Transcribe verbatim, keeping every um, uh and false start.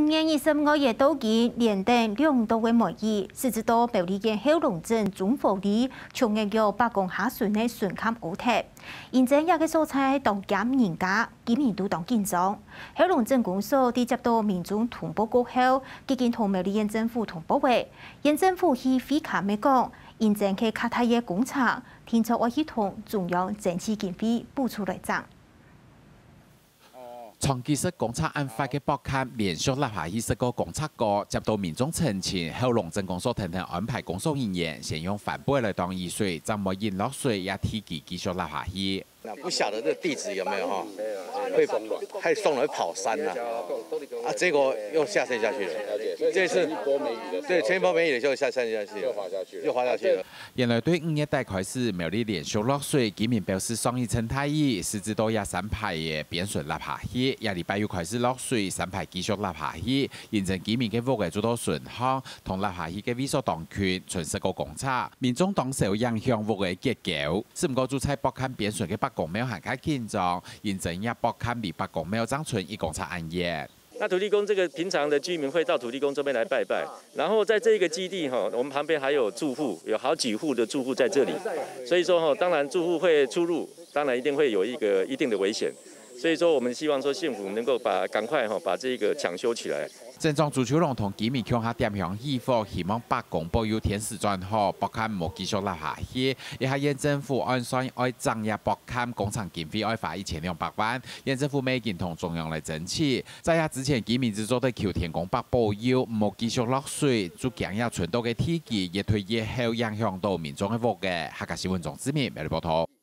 五月二十五號到今，連等兩度个梅雨，使之到苗栗縣後龍鎮中和里，長月有百公下巡个巡勘烏忒。因爭這个所在當驚人家，居民都當緊張。後龍鎮公所在接到民眾通報過後，已經同苗栗縣政府通報个。縣政府去會勘个講，因爭該較大个工程，定著愛去同中央爭取經費補助來整。 長期食公車恁闊个駁坎連續落下去十個公車過，接到民眾陳情，後龍鎮公所跈等安排工作人員先用帆布來擋雨水，正毋會引落水，也地基繼續落下去。那不曉得這地質有沒有哈？會太鬆了，會跑山了。啊，結果又下陷下去了。這次對，前一波梅雨的時候下陷下去了，又滑下去了。 原來對五月底開始，苗栗連續落水，居民表示上一陣大雨，使之到這山排个邊脣落下去，這禮拜又開始落水，山排繼續落下去，因爭居民个屋仔就到脣項，同落下去个位所當近，賰十個公尺，民眾當受影響，屋仔結構。只毋過就在駁坎邊脣个伯公廟還較緊張，因爭這駁坎離伯公廟正賰一公尺恁遠。 那土地公這個平常的居民會到土地公這邊來拜拜，然後在這個基地哈，我們旁邊還有住戶，有好幾戶的住戶在這裡，所以說哈，當然住戶會出入，當然一定會有一個一定的危險，所以說我們希望說縣府能夠把，趕快哈，把這個搶修起來。鎮長朱秋龍同居民共下點香獻花，希望伯公保佑天時轉好，駁坎毋好繼續落下去。這下縣政府按算愛整這駁坎，工程經費愛花一千兩百萬，縣政府乜已經同中央來爭取。 在這之前，居民只做得求天公伯保佑，毋好繼續落水，就驚這賰到个地基越推越厚，影響到民眾个屋仔。客家新聞鍾志明，苗栗報導。